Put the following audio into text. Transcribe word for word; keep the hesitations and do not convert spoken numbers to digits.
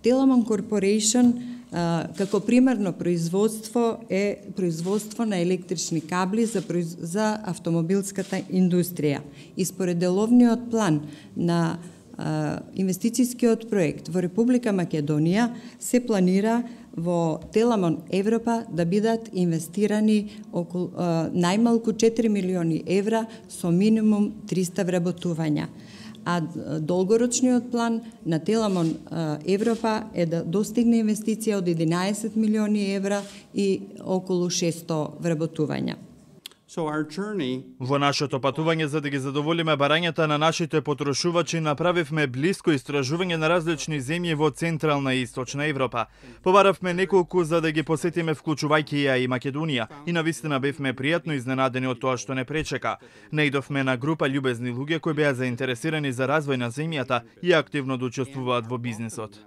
Telamon Corporation како примерно производство е производство на електрични кабли за, за автомобилската индустрија. И според деловниот план на а, инвестицијскиот проект во Република Македонија се планира во Теламон Европа да бидат инвестирани околу а, најмалку четири милиони евра со минимум триста вработувања. А долгорочниот план на Теламон Европа е да достигне инвестиција од единаесет милиони евра и околу шесто вработувања. So our journey... Во нашето патување за да ги задоволиме барањата на нашите потрошувачи направивме блиско истражување на различни земји во Централна и Источна Европа. Побаравме неколку за да ги посетиме вклучувајќи ја и Македонија и навистина бевме пријатно изненадени од тоа што не пречека. Наидовме на група љубезни луѓе кои беа заинтересирани за развој на земјата и активно да учествуваат во бизнисот.